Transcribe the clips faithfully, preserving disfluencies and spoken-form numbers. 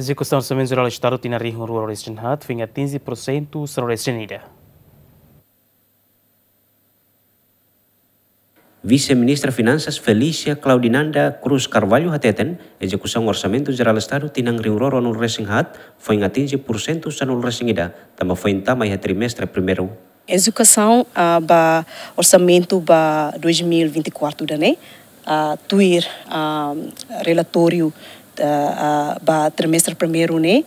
Ezekusaun Orsamentu Jerál Estadu tinan rihun rua ruanulu-resin-haat foin atinje porsentu sanulu-resin-ida. Vise-Ministra Finansas Felícia Claudinanda Cruz Carvalho hateten, ezekusaun Orsamentu Jerál Estadu tinan rihun rua ruanulu-resin-haat foin atinje porsentu sanulu-resin-ida, tanba foin tama iha trimestre primeiru. Ezekusaun, ah, ba orsamentu ba dois mil e vinte e quatro ida-ne'e, ah, tuir, ah, relatóriu, ah, ah, ba trimestre primeiru ne'e,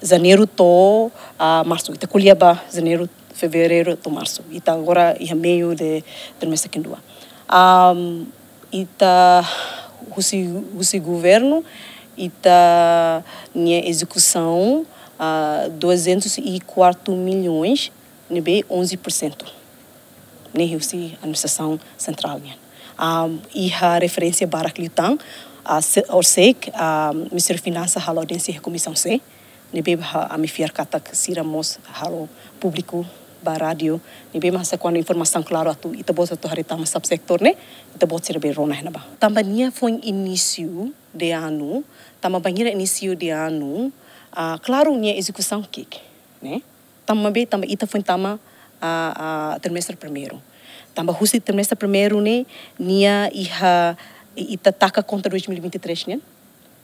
janeiru to'o, ah, marsu. Ita ko'alia ba janeiru, fevereiru to'o marsu. Ita agora iha meiu de trimestre kedua. Am, ita husi, husi governu, ita-nia ezekusaun, ah, duzentos e quatro milhões, ne'ebé onze por cento. Ne'e husi administrasaun sentrál nian. Ah, iha referénsia barak liután, ah, se, Orsek, ah, Ministériu Finansa halo audiénsia iha Komisaun C, ne'ebé ba ami fiar katak sira mós halo públiku ba rádiu, ne'ebé mak se kuandu informasaun klaru atu ita-boot atu haree tama subsektór ne'e, ita-boot sira bele rona iha ne'ebá. Tanba nia foin inísiu de anu, tanba bainhira inísiu de anu, ah, klaru nia ezekusaun ki'ik, ne'e? Tanba be, tanba ita foin tama, ah, ah, trimestre primeiru. Tanba husi trimestre primeiru ne'e, nia iha, i-, ita taka konta dois mil e vinte e três nian.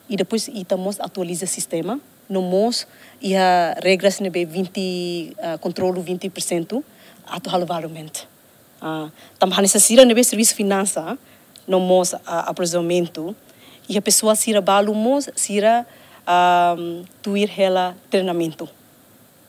I depois ita mós atualiza sistema, no mós iha regras ne'ebé vinte, ah, kontrolu vinte por cento atu halo válidu mente. Ah, tanba hanesan sira ne'ebé servisu finansa, no mós, ah, aprovizionamentu, iha pesoál sira balu mós sira, ah, tuir hela treinamentu.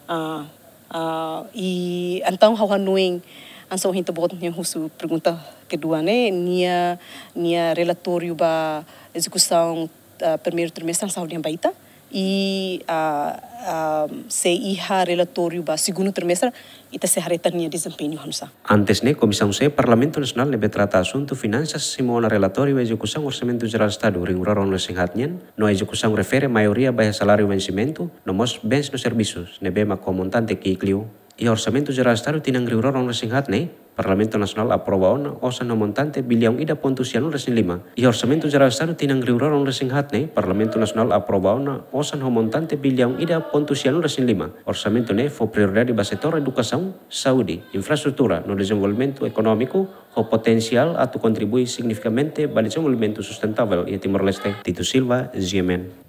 Ah, ah, i entaun ha'u hanoin, hanesan ohin ita-boot nia husu pergunta kedua ne'e, nia, nia relatóriu ba ezekusaun, ah, primeiru trimestre hanesan ha'u dehan ba ita. I, ah, ah, se iha relatóriu ba segundu trimestre, ita sei haree tan nia dezempeñu hanesan. Antes ne'e, Komisaun C Parlamentu Nasionál ne'ebé trata asuntu finansas simu ona relatóriu ezekusaun Orsamentu Jerál Estadu rihun rua ruanulu-resin-haat nian, no ezekusaun refere maioria ba iha saláriu vensimentu, no mós bens no servisus, ne'ebé mak ho montante ki'ik liu. Iha Orsamentu Jerál Estadu tinan rihun rua ruanulu-resin-haat ne'e, Parlamentu Nasionál aprova ona osan ho montante biliaun ida pontu sianulu-resin-lima. Iha Orsamentu Jerál Estadu tinan rihun rua ruanulu-resin-haat ne'e, Parlamentu Nasionál aprova ona osan ho montante biliaun ida pontu sianulu-resin-lima. Orsamentu ne'e fó prioridade ba setór edukasaun, saúde, infraestrutura no dezenvolvimentu ekonómiku, ho potensiál atu kontribui signifikante ba dezenvolvimentu sustentavel iha Timor-Leste. Tito Silva, G M N.